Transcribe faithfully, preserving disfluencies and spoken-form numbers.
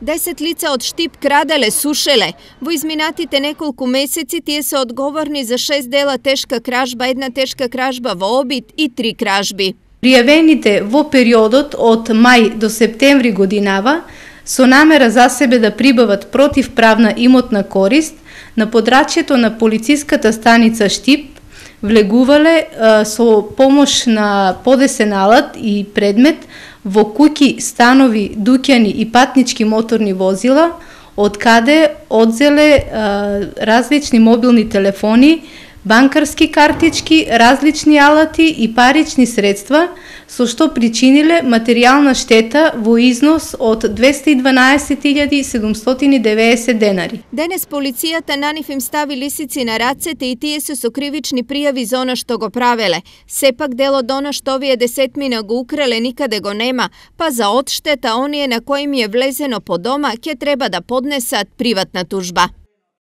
Десет лица од Штип краделе, сушеле. Во изминатите неколку месеци тие се одговорни за шест дела тешка кражба, една тешка кражба во обид и три кражби. Пријавените во периодот од мај до септември годинава со намера за себе да прибават противправна имотна корист на подрачјето на полициската станица Штип влегувале а, со помош на подесен алат и предмет во куќи, станови, дуќани и патнички моторни возила, од каде одзеле а, различни мобилни телефони, банкарски картички, различни алати и парични средства, со што причиниле материјална штета во износ од двесте и дванаесет илјади седумстотини и деветдесет денари. Денес полицијата на нив им стави лисици на рацете и тие се со кривични пријави за она што го правеле. Сепак дел од она што овие десетмина го украле никаде го нема, па за одштета оние на кои им е влезено по дома ќе треба да поднесат приватна тужба.